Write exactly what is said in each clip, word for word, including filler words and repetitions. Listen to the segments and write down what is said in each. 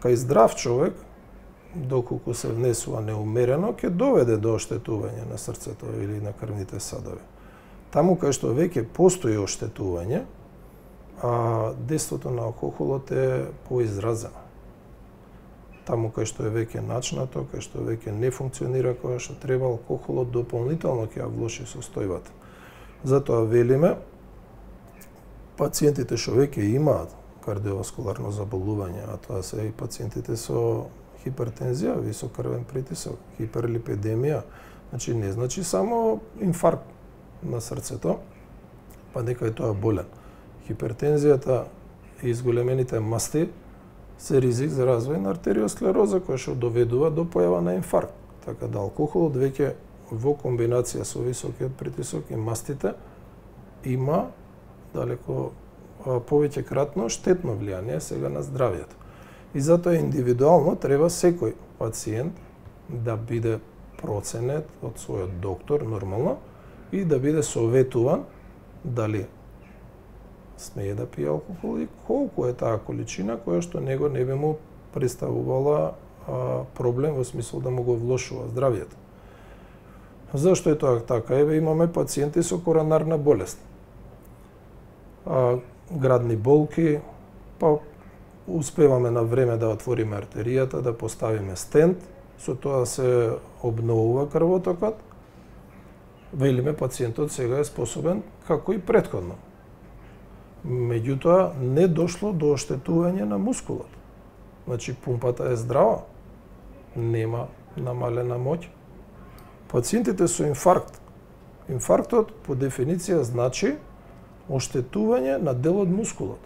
кај здрав човек, доколку се внесува неумерено, ќе доведе до оштетување на срцето или на крвните садови. Таму кај што веќе постои оштетување, а дејството на алкохолот е поизразено. Таму кај што е веќе начнато, кај што веќе не функционира кога што треба, алкохолот дополнително ќе ја влоши состојбата. Затоа велиме, пациентите што веќе имаат кардиоваскуларно заболување, а тоа се и пациентите со хипертензија, висок крвен притисок, хиперлипидемија, значи не значи само инфаркт на срцето, па нека е тоа болен. Хипертензијата и изголемените масти се ризик за развој на артериосклероза, која што доведува до појава на инфаркт. Така да алкохолот веќе во комбинација со високиот притисок и мастите има далеко повеќе кратно штетно влијание сега на здравјето. И затоа индивидуално треба секој пациент да биде проценет од својот доктор нормално и да биде советуван дали смее да пие алкохол и колку е таа количина која што него не би му представувала а, проблем во смисол да му го влошува здравјето. Зашто е тоа така? Еве имаме пациенти со коронарна болест. А, градни болки, па успеваме на време да отвориме артеријата, да поставиме стент, со тоа се обновува крвотокот. Велиме пациентот сега е способен како и претходно. Меѓутоа не дошло до оштетување на мускулот. Значи пумпата е здрава, нема намалена моќ. Пациентите со инфаркт, инфарктот по дефиниција значи оштетување на дел од мускулот.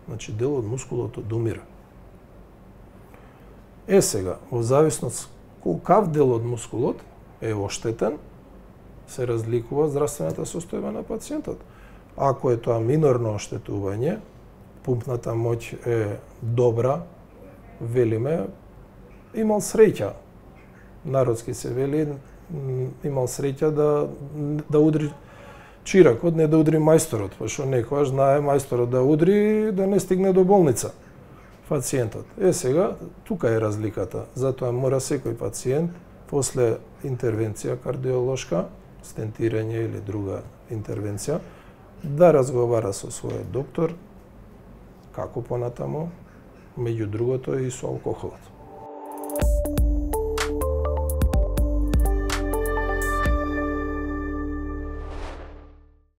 Значи дел од мускулот одумира. Е сега, во зависност колкав дел од мускулот е оштетен, се разликува здравствената состојба на пациентот. Ако е тоа минорно оштетување, пумпната моќ е добра, велиме, имал среќа. Народски се вели, имал среќа да, да удри чиракот, не да удри мајсторот, пошто некојаш знае мајсторот да удри да не стигне до болница пациентот. Е сега, тука е разликата. Затоа мора секој пациент после интервенција кардиолошка, стентирање или друга интервенција, да разговара со својот доктор како понатаму, меѓу другото и со алкохолот.